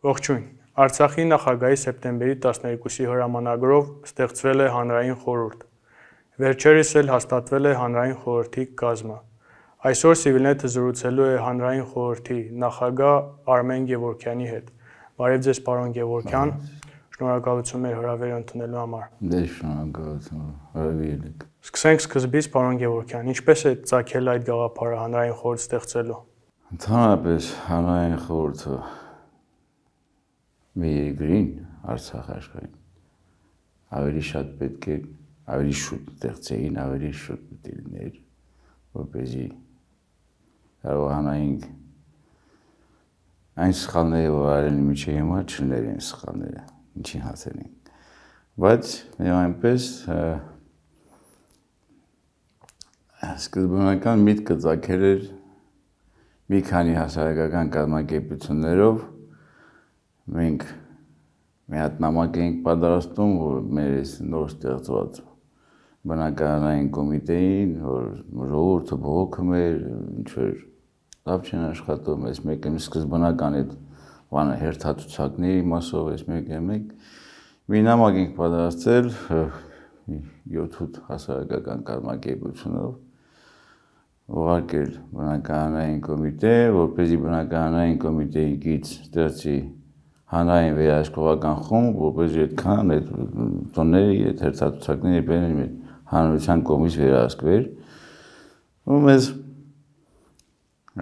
Ողջույն, Արցախի նախագահի սեպտեմբերի 12-ի հրամանագրով ստեղծվել է հանրային խորհուրդ, վերջերս էլ հաստատվել է հանրային խորհրդի կազմը։ Այսօր Civilnet-ը զրուցելու է հանրային խորհրդի նախագահ Արմեն Գևորգյանի հետ։ Բարև ձեզ, պարոն Գևորգյան, շնորհակալություն մեր հրավերը ընդունելու համար։ Դե շնորհակալություն, հրավիրել եք։ Սկսենք սկզբից, պարոն Գևորգյան, ինչպես է ծագել այդ գաղափարը հանրային խորհուրդ ստեղծելու։ Ընդհանրապես հանրային խորհուրդը մի երկրին, Արցախ աշխարհին ավելի շատ պետք է, ավելի շուտ ստեղծեին, ավելի շուտ պետք է լիներ, որպեսզի կարողանայինք այն սխալները, որ արել միջի հիմա չլինեն սխալները, ինչին հասնենք։ Բայց այնպես սկզբնական միտքը ծագել էր մի քանի հասարակական կազմակերպություններով մենք մի հատ նամակ էինք պատրաստում, որ մեր նոր ստեղծված բնակարանային կոմիտեին, որ ժողովուրդը բողոքում էր, ինչ-որ լավ չեն աշխատում, այս մեկը սկզբնական այդ բանը հերթացուցակների մասով, այս մեկը մի նամակ ենք պատրաստել 7-8 հասարակական կազմակերպությունով, ուղարկել բնակարանային կոմիտե, որպեսզի բնակարանային կոմիտեի գից ստեղծի հանրային վերահսկողական խումբ, որպեսզի այդքան այդ տոները, այդ հերթացուցակները բերեն հանրության կողմից վերահսկվեր։ Ու մեզ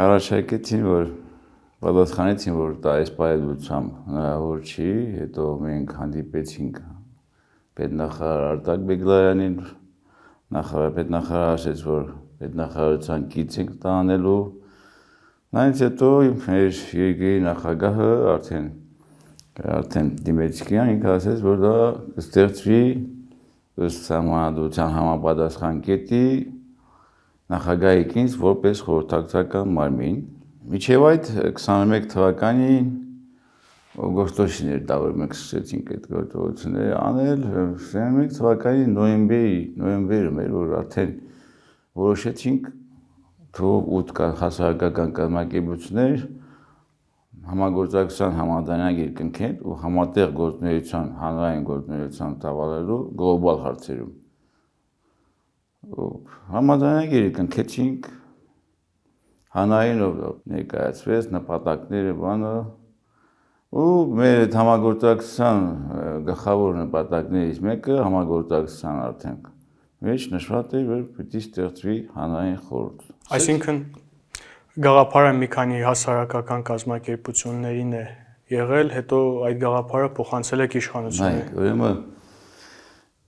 առաջարկեցին, որ պատասխանեցին, որ դա այս պայմանությամբ հնարավոր չի, հետո մենք հանդիպեցինք պետնախարար Արտակ Բեգլարյանին, պետնախարարը ասեց, որ պետնախարարության գիծ ենք տանելու, նայից հետո մեր երկրի նախագահը արդեն դիմեցիկյան ինքը ասեց, որ դա կստեղծվի ըստ սահմանադրության համապատասխան կետի նախագահի կինս որպես խորհրդակցական մարմին։ Մինչև այդ 21 թվականին օգոստոսին էր դա, որ մենք սկսեցինք այդ գործողությունները անել, 21 թվականի նոյեմբերում էր, որ արդեն որոշեցինք թող 8 հասարակական կազմակերպություններ համագործակցության համաձայնագիր կնքեն ու համատեղ գործունեության, հանրային գործունեության տավալելու գլոբալ հարցերում։ Համաձայնագիրը կնքեցինք, հանրայինով ներկայացվեց նպատակները, բանը, ու մեր այդ համագործակցության գլխավոր նպատակներից մեկը համագործակցության արդեն մեջ նշված էր, որ պետք է ստեղծվի հանրային խորհուրդ։ Այսինքն գաղափարը մի քանի հասարակական կազմակերպություններին է եղել, հետո այդ գաղափարը փոխանցել եք իշխանություններին։ Ուրեմն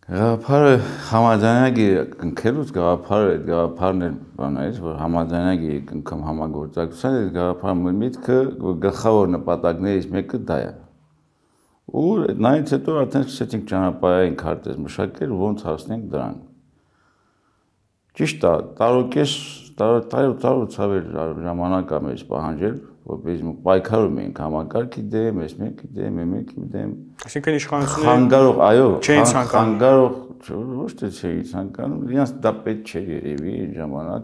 գաղափարը համաձայնագիրը կնքելուց գաղափարն էլ բան էր, որ համաձայնագիրը կնքում համագործակցության, այդ գաղափարի միտքը գլխավոր նպատակներից մեկը դա է։ Ու նայից հետո արդեն սկսեցինք ճանապարհային քարտեզ մշակել, ոնց հասնենք դրան։ Ճիշտ է, տարուց ավելի ժամանակ է մեզ պահանջել, որպեսզի պայքարում էինք համակարգի դեմ, այս մեկի դեմ։ Այսինքն իշխանությունները չէին ցանկանում։ Ոչ թե չէին ցանկանում, իրենց դա պետք չէր երևի այն ժամանակ։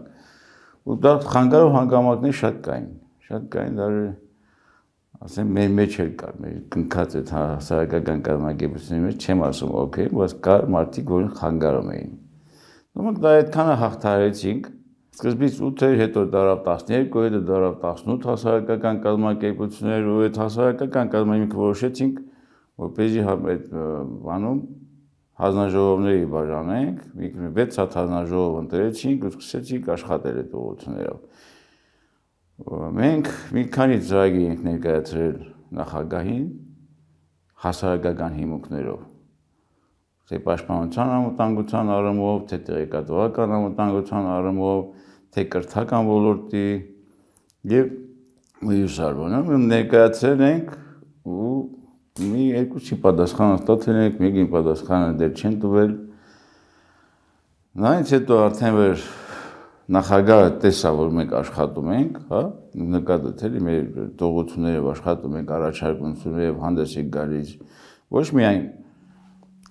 Ու դա խանգարող հանգամանքներ շատ կային, դեռ ասեմ մեր մեջ էլ կար, մեր կնքած այդ հասարակական կազմակերպությունների մեջ չեմ ասում օքեյ, բայց կար մարդիկ, որին խանգարում էին։ Մենք դա այդքանը հաղթահարեցինք, սկզբից 8 էր, հետո դարավ 12, հետո դարավ 18 հասարակական կազմակերպություններ ու այդ հասարակական կազմակերպությունները որոշեցինք, որպեսզի այդ բանում հանձնաժողովների բաժանենք, 6 հատ հանձնաժողով ընտրեցինք ու սկսեցինք աշխատել այդ ուղղություններով։ Մենք մի քանի ծրագիր ենք ներկայացրել նախագահին հասարակական հիմունքներով, թե պաշտպանության անվտանգության առումով, թե տեղեկատվական անվտանգության առումով, թե կրթական ոլորտի եւ մյուս առումով ներկայացրել ենք ու մի երկուսի պատասխան ստացել ենք, մեկին պատասխանը դեռ չեն տվել։ Նայից հետո արդեն որ նախագահը տեսա, որ մենք աշխատում ենք, հա, նկատեց էլի մեր տողություններով աշխատում ենք, առաջարկություններով հանդես եք գալիս, ոչ միայն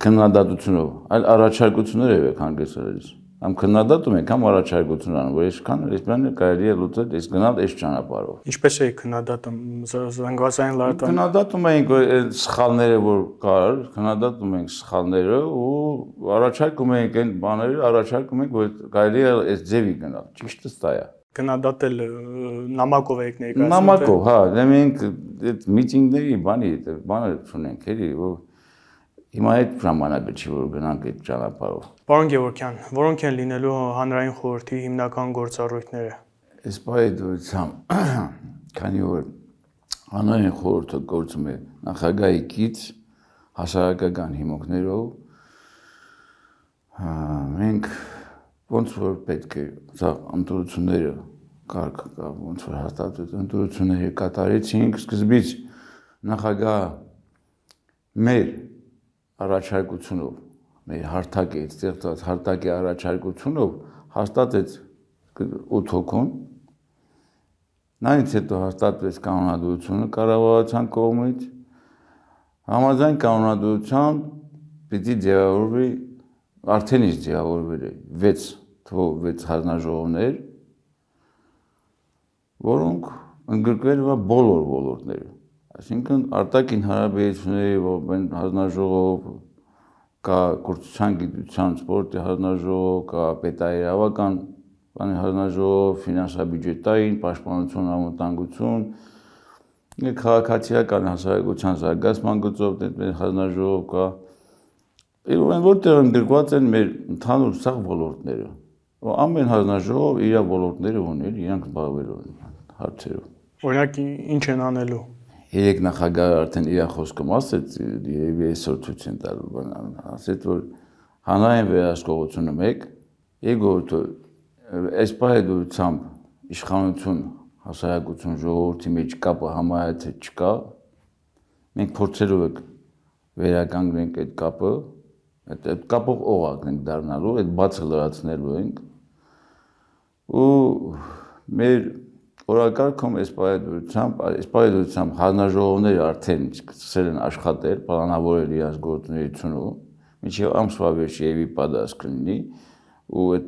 քննադատությունով, այլ առաջարկություններով եք հանդես գալիս։ Ամ քննադատում ենք, համ առաջարկություն անում, որ այսքան ռեսպոնդը կարելի է լուծել, այս գնալ այս ճանապարհով։ Ինչպես է քննադատում զանգվածային լրատվական։ Քննադատում ենք այդ սխալները, որ կար, քննադատում ենք սխալները ու առաջարկում ենք այն բաները, առաջարկում ենք, որ կարելի է այս ձևի գնալ։ Ճիշտը սա է։ Քննադատել նամակով եք ներկայացնում։ Նամակով, հա, դե մենք այդ միտինգների բանը չունենք, էլի, որ հիմա այդ ժամանակը չի, որ գնանք այդ ճանապարհով։ Պարոն Գևորգյան, որոնք են լինելու հանրային խորհրդի հիմնական գործառույթները։ Այս պայդությամբ, քանի որ հանրային խորհուրդը գործում է նախագահի կից հասարակական հիմունքներով, մենք ոնց որ պետք է ընտրությունները կարգ կա, ոնց որ հաստատվեց ընտրությունները կատարեցինք, սկզբից նախագահ մեր առաջարկությունով, մեր հարթակի ստեղծած հարթակի առաջարկությունով հաստատեց 8 հոգուն, նայից հետո հաստատվեց կանոնադրությունը կառավարության կողմից, համաձայն կանոնադրության պիտի ձևավորվի, արդեն իսկ ձևավորվել է 6 հանձնաժողովներ, որոնք ընդգրկվել են բոլոր ոլորտները, այսինքն արտաքին հարաբերությունների հանձնաժողով, կա կրթության, գիտության, սպորտի հանձնաժողով, կա պետաիրավական հանձնաժողով, ֆինանսա-բյուջետային, պաշտպանություն, անվտանգություն, քաղաքացիական հասարակության զարգացման գծով հանձնաժողով կա, որտեղ ընդգրկված են մեր ընդհանուր սաղ ոլորտները, ամեն հանձնաժողով իր ոլորտները ունի, իրանք զբաղվելու են հարցերով։ Օրինակ ինչ են անելու։ Երեք նախագահը արդեն իր խոսքում ասեց, երևի այսօր ցույց են տալու, ասեց, որ հանրային վերահսկողությունը 1, երկրորդը այս պայմանությամբ իշխանություն, հասարակություն, ժողովրդի մեջ կապը համարյա թե չկա, մենք փորձելու ենք վերականգնենք այդ կապը, այդ կապով օղակ ենք դառնալու, այդ բացը լրացնելու ենք ու մեր օրակարգում այս պայմանությամբ հանրաժողովները արդեն սկսել են աշխատել, պլանավորել իրենց գործունեությունը, մինչև ամսվա վերջը եւի պատասխան կլինի ու այդ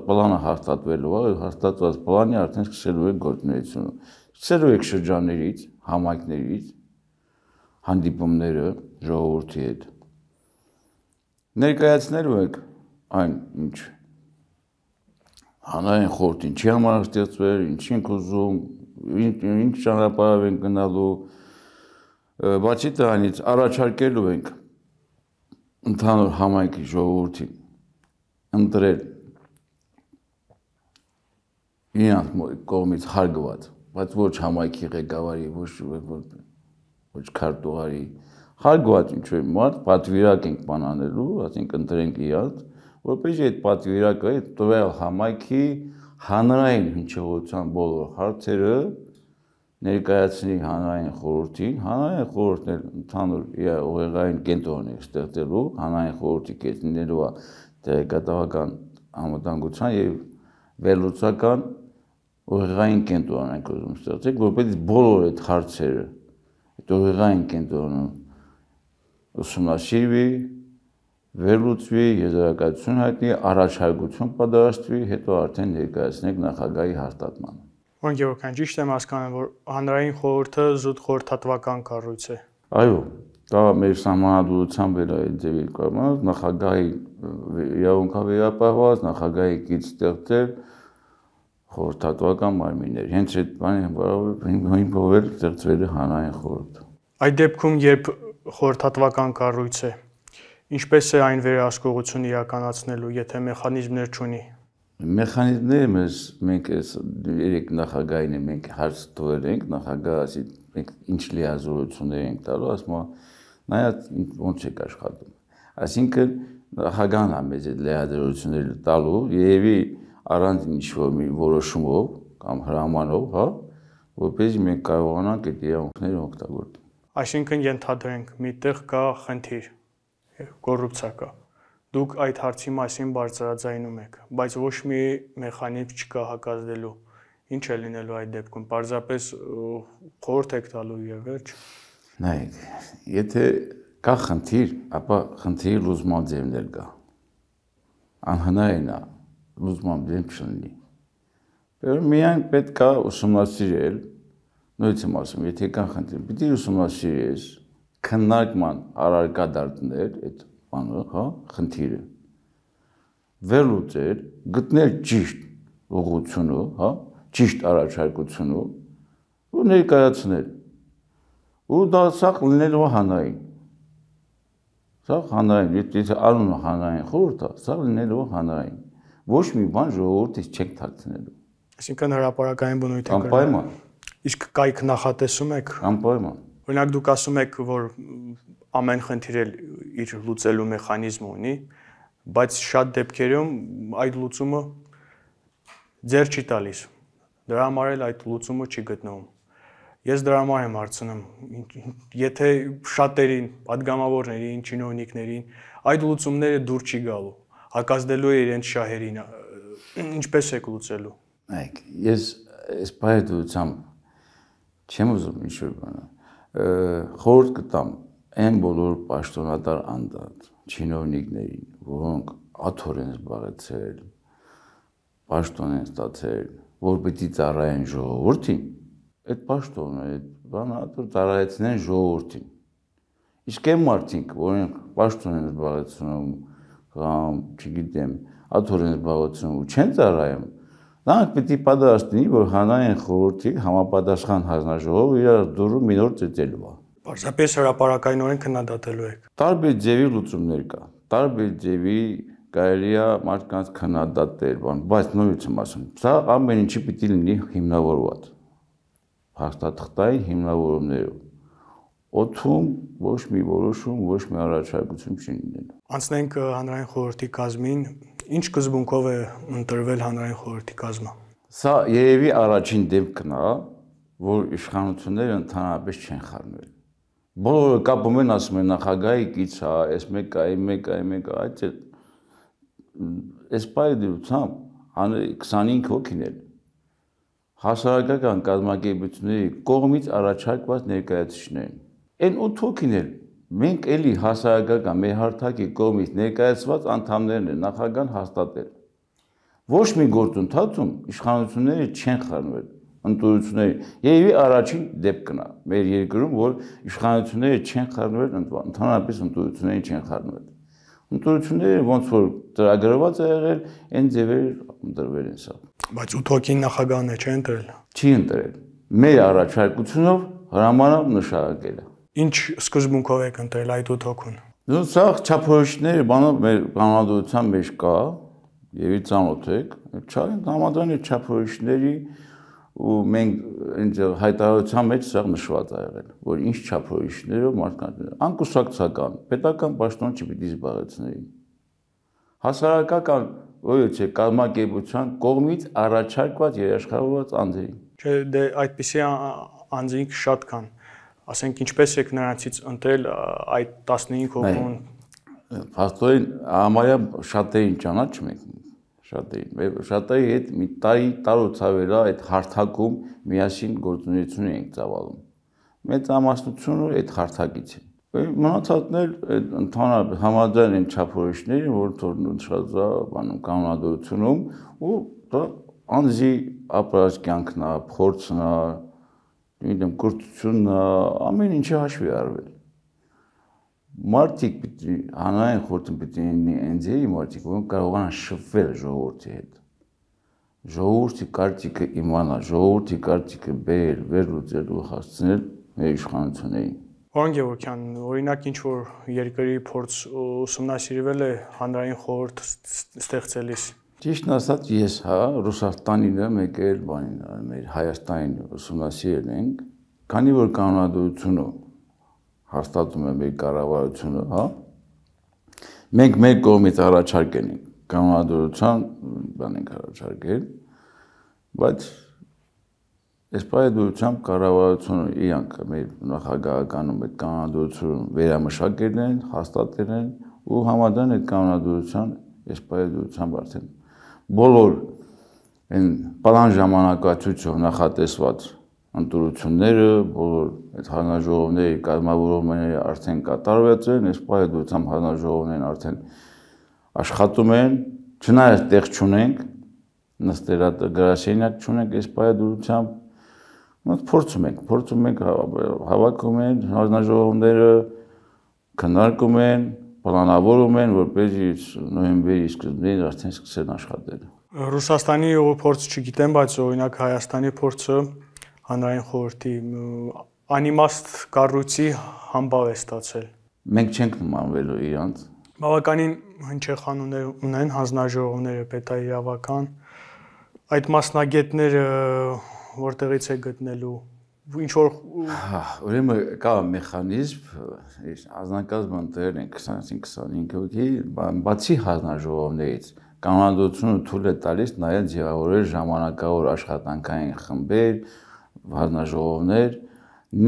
պլանը հաստատվելու է, հաստատված պլանի արդեն սկսելու է գործունեությունը։ Սկսելու եք շրջաններից, համայնքներից, հանդիպումները ժողովրդի հետ։ Ներկայացնելու եք այն ինչ հանրային խորհուրդ ինչի համար ստեղծվել, ինչ ենք ուզում, ինչ ճանապարհով ենք գնալու, բացի դրանից առաջարկելու ենք ընդհանուր համայնքի ժողովրդին ընտրել իրանց կողմից հարգված, բայց ոչ համայնքի ղեկավարի, ոչ քարտուղարի, հարգված ինչ-որ մարդ պատվիրակ ենք բանանելու, այսինքն ընտրենք իրանց, որպեսզի այդ պատվիրակը տվյալ համայնքի հանրային հնչողության բոլոր հարցերը ներկայացնի հանրային խորհրդին, հանրային խորհուրդն էլ ընդհանուր իր ուղեղային կենտրոն է ստեղծելու, հանրային խորհրդի կետնելու է տեղեկատվական անվտանգության եւ վերլուծական ուղեղային կենտրոն ենք ուզում ստեղծել, որպեսզի բոլոր այդ հարցերը, այդ ուղեղային կենտրոնը ուսումնասիրվի, վերլուծվի, եզրակացություն հայտնի, առաջարկություն պատրաստվի, հետո արդեն ներկայացնենք նախագահի հաստատմանը։ Պարոն Գևորգյան, ճիշտ եմ հասկանում, որ հանրային խորհուրդը զուտ խորհրդատվական կառույց է։ Այո, դա մեր սահմանադրությամբ էլ այդ ձևի կողմից նախագահի իրավունքավերապահված, նախագահի կից ստեղծել խորհրդատվական մարմիններ։ Հենց այդ հիմքով էլ ստեղծվել է հանրային խորհուրդ։ Այդ դեպքում, երբ խորհրդատվական կառույց է, ինչպես է այն վերահսկողություն իրականացնելու, եթե մեխանիզմներ չունի։ Մեխանիզմները մենք այս երեք նախագահին մենք հարց տվել ենք, նախագահը ասի մենք ինչ լիազորություններ ենք տալու, ասում է նայած ոնց եք աշխատում։ Այսինքն նախագահն է մեզ այդ լիազորությունները տալու, երևի առանց ինչ-որ մի որոշումով կամ հրամանով, հա, որպեսզի մենք կարողանանք այդ իրավունքները օգտագործել։ Այսինքն ենթադրենք, միտեղ կա խնդիր, կոռուպցիա կա։ Դուք այդ հարցի մասին բարձրաձայնում եք, բայց ոչ մի մեխանիզմ չկա հակազդելու։ Ինչ է լինելու այդ դեպքում։ Պարզապես խորհուրդ եք տալու եւ վերջ։ Նայեք, եթե կա խնդիր, ապա խնդիրի լուծման ձևներ կա։ անհնարին է լուծման դեմ չլինի։ Միայն պետք է ուսումնասիրել, նույնիսկ եմ ասում, եթե կան խնդիր, պիտի ուսումնասիրես, քննարկման առարկա դարձնել այդ բանը, հա, խնդիրը, վերլուծել, գտնել ճիշտ ուղղությունը, հա, ճիշտ առաջարկությունը ու ներկայացնել։ Ու դա սա լինելու է հանրային։ Սա հանրային, եթե անունը հանրային խորհուրդ է, սա լինելու է հանրային։ Ոչ մի բան ժողովրդից չեք թաքցնելու։ Այսինքն հրապարակային բնույթ է։ Անպայման։ Իսկ կայք նախատեսում եք։ Անպայման։ Օրինակ դուք ասում եք, որ ամեն խնդիր իր լուծելու մեխանիզմ ունի, բայց շատ դեպքերում այդ լուծումը ձեռ չի տալիս։ Դրա համար էլ այդ լուծումը չի գտնվում։ Ես դրա համար եմ հարցնում, եթե շատերին, падգամավորներին, չինովնիկներին այդ լուծումները դուր չի գալու, հակազդելու է իրենց շահերին, ինչպես եք լուծելու։ Այք, ես այս բայդությամբ չեմ ուզում ինչ-որ բանը, խորհուրդ կտամ այն բոլոր պաշտոնատար անդած, չինովնիկներին, որոնք աթոռ են զբաղեցրել, պաշտոն են ստացել, որ պիտի ծառայեն ժողովրդին, այդ պաշտոնը, այդ բանը ծառայեցնեն ժողովրդին։ Իսկ այն մարդիկ, որոնք պաշտոն են զբաղեցնում, կամ, չգիտեմ, աթոռ են զբաղեցնում ու չեն ծառայում, նրանք պիտի պատրաստվի, որ հանրային խորհրդի համապատասխան հանձնաժողովը իր դուրը մի օր ծեծելու է։ Պարզապես հրապարակայնորեն քննադատելու եք։ Տարբեր ձևի լուծումներ կա, տարբեր ձևի կարելի է մարդկանց քննադատել, բայց նույնիսկ եմ ասում, սա ամեն ինչի պիտի լինի հիմնավորված։ Փաստաթղթային հիմնավորումներով։ Օդում ոչ մի որոշում, ոչ մի առաջարկություն չի լինելու։ Անցնենք հանրային խորհրդի կազմին, ինչ սկզբունքով է ընտրվել հանրային խորհրդի կազմը։ Սա երևի առաջին դեպքն է, որ իշխանությունները ընդհանրապես չեն խառնվել։ Բոլորը կապում են, ասում են նախագահի կից է, այս մեկը, այդ այս բայդությամբ 25 հոգին էլ հասարակական կազմակերպությունների կողմից առաջարկված ներկայացուցիչներ են։ Այն 8 հոգին էլ մենք էլի հասարակական մեր հարթակի կողմից ներկայացված անդամներն են նախագահան հաստատել։ Ոչ մի գործընթացում իշխանությունները չեն խառնվել ընտրությունների։ Երևի առաջին դեպքն է մեր երկրում, որ իշխանությունները չեն խառնվել, ընդհանրապես ընտրություններին չեն խառնվել։ Ընտրությունները ոնց որ ծրագրված է եղել, այն ձևեր ընտրվել են սա։ Բայց 8 հոգին նախագահն է, չէ՞ ընտրել։ Չի ընտրել։ Մեր առաջարկությունով հրամանով նշանակել է։ Ինչ սկզբունքով եք ընտրել այդ 8 հոգուն։ Սա չափորոշիչները բանը մեր կանոնադրության մեջ կա, եւ ծանոթ եք, համաձայն այդ չափորոշիչների ու մենք ինձ հայտարարության մեջ սա նշված է եղել, որ ինչ չափորոշիչներով մարդկանց անկուսակցական, պետական պաշտոն չպիտի զբաղեցնեին։ Հասարակական ոչ կազմակերպության կողմից առաջարկված երաշխավորված անձերին։ Չէ, դե այդպիսի անձինք շատ կան։ Ասենք ինչպես եք նրանցից ընտրել այդ 15 հոգուն։ Փաստորեն համարյա շատերին ճանաչում ենք, շատերի հետ մի տարուցավեր է այդ հարթակում միասին գործունեություն ենք ծավալում։ Մեծամասնությունը այդ հարթակից է։ Մնացածն էլ ընդհանրապես համաձայն են չափորոշիչներին, որ նշված է բանում կանոնադրությունում ու դա անձի ապրած կյանքն է, փորձն է, գիտեմ, կրթությունն է, ամեն ինչը հաշվի արվել։ Մարդիկ պիտի հանրային խորհուրդը պիտի լինի այնձեի մարդիկ, որոնք կարողանան շփվել ժողովրդի հետ։ Ժողովրդի կարծիքը իմանալ, ժողովրդի կարծիքը բերել, վերլուծել ու հասցնել մեր իշխանություններին։ Պարոն Գևորգյան, օրինակ ինչ որ երկրի փորձ ուսումնասիրվել է հանրային խորհուրդ ստեղծելիս։ Ճիշտն ասած, ես Ռուսաստանին մեկ էլ բանին, մեր Հայաստանին ուսումնասիրել ենք, քանի որ կանոնադրությունը հաստատում է մեր կառավարությունը, հա։ Մենք մեր կողմից առաջարկել ենք կանոնադրության, բան ենք առաջարկել, բայց այս պայմանությամբ կառավարությունը իրանք մեր նախագահականում այդ կանոնադրությունը վերամշակել են, հաստատել են ու համաձայն այդ կանոնադրության այս պայմանությամբ արդեն բոլոր այն պլան ժամանակացույցով նախատեսված ընտրությունները, բոլոր այդ հանրաժողովների կազմավորումները արդեն կատարված են, այս պայմանությամբ հանրաժողովներն արդեն աշխատում են, Չնայած տեղ չունենք, նստելատ գրասենյակ չունենք, այս պայմանությամբ մենք փորձում ենք հավաքում են հանձնաժողովները, քննարկում են, պլանավորում են, որպեսզի նոյեմբերի սկզբին արդեն սկսեն աշխատել։ Ռուսաստանի փորձ չգիտեմ, բայց օրինակ Հայաստանի փորձը հանրային խորհրդի անիմաստ կառույցի համբավ է ստացել։ Մենք չենք նմանվելու իրանց։ Բավականին հնչեղանուներ ունեն հանձնաժողովները պետաիրավական, այդ մասնագետները որտեղից է գտնելու, ինչ որ ուրեմն կա մեխանիզմ, անձնակազմը ընտրել են 20-25 հոգի, բացի հանձնաժողովներից կանոնադրությունը թույլ է տալիս նաև ձևավորել ժամանակավոր աշխատանքային խմբեր, հանձնաժողովներ,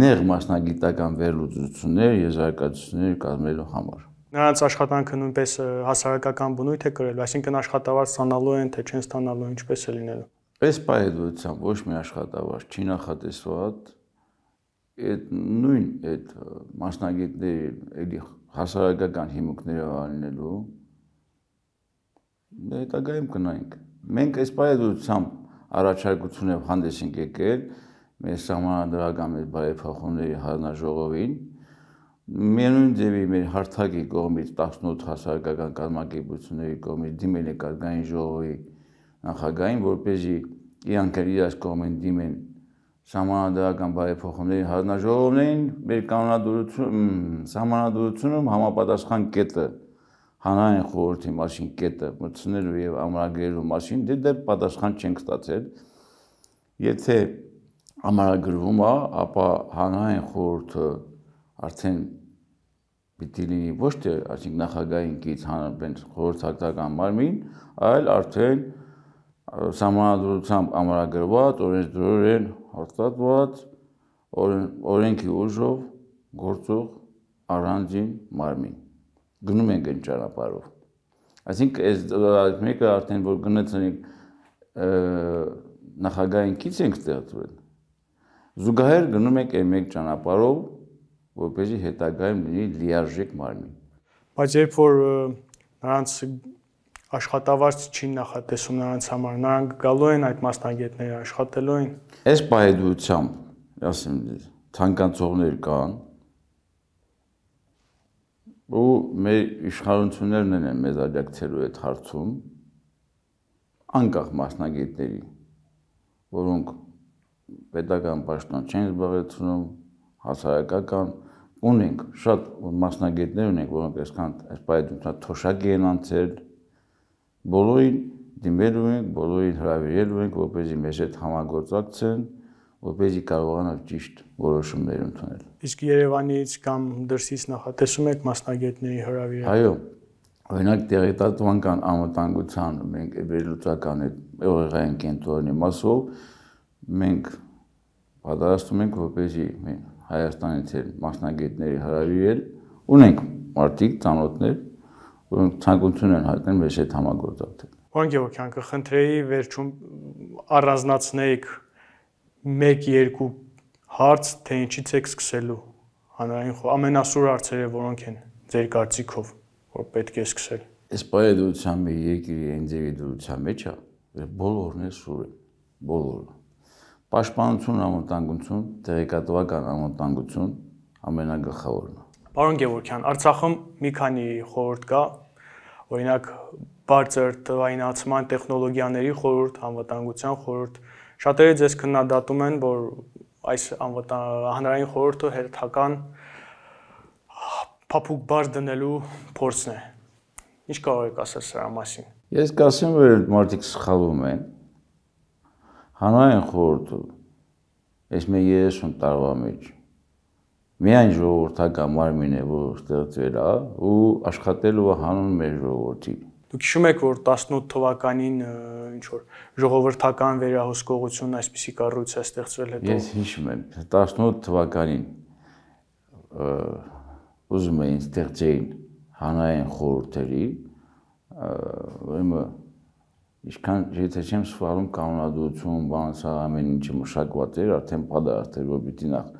նեղ մասնագիտական վերլուծություններ, եզրակացություններ կազմելու համար։ Նրանց աշխատանքը նույնպես հասարակական բնույթ է կրել, այսինքն աշխատավարձ ստանալու են, թե չեն ստանալու, ինչպես է լինելու։ Այս պայմանությամբ ոչ մի աշխատավարձ չի նախատեսված, այդ մասնագետների հասարակական հիմունքները անելու, հետագայում կնայենք։ Մենք այս պայմանությամբ առաջարկությունով հանդես ենք եկել մեր սահմանադրական մեր բարեփոխումների հանձնաժողովին, միևնույն ձևի մեր հարթակի կողմից 18 հասարակական կազմակերպությունների կողմից դիմել ենք ազգային ժողովի նախագահին, որպեսզի իրանք իրաց կողմեն դիմեն սահմանադրական բարեփոխումների հանձնաժողովներին, մեր սահմանադրությունում համապատասխան կետը հանրային խորհրդի մասին կետը մտցնելու եւ ամրագրելու մասին դեռ պատասխան չենք ստացել։ Եթե ամրագրվում է, ապա հանրային խորհուրդը արդեն պիտի լինի ոչ թե այսինքն նախագահային կից խորհրդական մարմին, այլ արդեն սահմանադրությամբ ամրագրված, օրենսդրորեն հաստատված, օրենքի ուժով գործող առանձին մարմին։ Գնում ենք այն ճանապարհով։ Այսինքն այս մեկը արդեն որ գնացինք նախագահային կից ենք ստեղծվել, զուգահեռ գնում ենք այն մեկ ճանապարհով, որպեսզի հետագայում լինի լիարժեք մարմին։ Բայց երբ որ նրանց աշխատավարձ չի նախատեսում նրանց համար, նրանք գալու են այդ մասնագետները աշխատելու են։ Այս պայմանությամբ, ասեմ, ցանկացողներ կան, ու մեր իշխանություններն են մեզ աջակցելու այդ հարցում, անկախ մասնագետների, որոնք պետական պաշտոն չեն զբաղեցնում, հասարակական ունենք, շատ մասնագետներ ունենք, որոնք այսքան այս պայմանությամբ թոշակի են անցել, բոլորին դիմելու ենք, բոլորին հրավիրելու ենք, որպեսզի մեզ հետ համագործակցեն, որպեսզի կարողանան ճիշտ որոշումներ ընդունել։ Իսկ Երևանից կամ դրսից նախատեսում եք մասնագետների հրավիրել։ Այո, օրինակ տեղեկատվական անվտանգության մենք վերլուծական ուղեղային կենտրոնի մասով մենք պատրաստում ենք, որպեսզի Հայաստանից մասնագետների հրավիրել, ունենք մարդիկ, ծանոթներ, որոնք ցանկություն են հայտնել մեզ հետ համագործակցել։ Պարոն Գևորգյան, կխնդրեի վերջում առանձնացնեիք 1-2 հարց, թե ինչից եք սկսելու հանրային ամենասուր հարցերը որոնք են ձեր կարծիքով, որ պետք է սկսել։ Այս պայմանությամբ մի երկրի ինձևի դրության մեջ է, բոլորն է սուր են, բոլորը։ Պաշտպանություն, անվտանգություն, տեղեկատվական անվտանգություն ամենագլխավորն է։ Պարոն Գևորգյան, Արցախում մի քանի խորհուրդ կա, օրինակ բարձր թվայնացման տեխնոլոգիաների խորհուրդ, անվտանգության խորհուրդ։ Շատերը ձեզ քննադատում են, որ այս հանրային խորհուրդը հերթական փափուկ բար դնելու փորձն է։ Ինչ կարող եք ասել սրա մասին։ Ես կասեմ, որ մարդիկ սխալվում են։ Հանրային խորհուրդը այս մեր 30 տարվա մեջ միայն ժողովրդական մարմին է, որ ստեղծվել է ու աշխատելու է հանուն մեր ժողովրդի։ Դուք հիշում եք, որ 18 թվականին ինչ որ ժողովրդական վերահսկողություն այսպիսի կառույց է ստեղծվել հետո։ Ես հիշում եմ, 18 թվականին ուզում էին ստեղծեին հանրային խորհուրդերի, ուրեմն ինչքան եթե չեմ սխալվում կանոնադրություն, բան սա ամեն ինչը մշակված էր, արդեն պատրաստ էր, որ պիտի նախ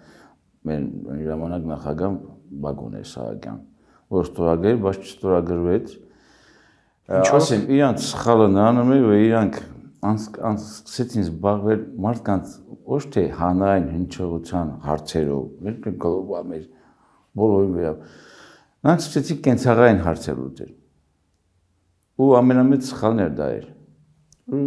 մեր ժամանակ նախագահ Բակոն Սահակյան, որ ստորագրել, բայց չստորագրվեց։ Ասեմ, իրանք սխալը նրանում է, որ իրանք սկսեցին զբաղվել մարդկանց ոչ թե հանրային հնչողության հարցերով, մեր գլոբալ մեր բոլորի վրա։ Նրանք սկսեցին կենցաղային հարցեր ուտել։ Ու ամենամեծ սխալն էր դա էր։ Ու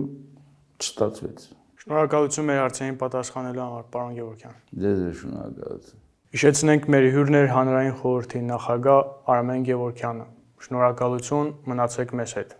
չստացվեց։ Շնորհակալություն մեր հարցերին պատասխանելու համար, պարոն Գևորգյան։ Ձեզ շնորհակալություն։ Հիշեցնենք մեր հյուրն էր Հանրային խորհրդի նախագահ Արմեն Գևորգյանը։ Շնորհակալություն, մնացեք մեզ հետ։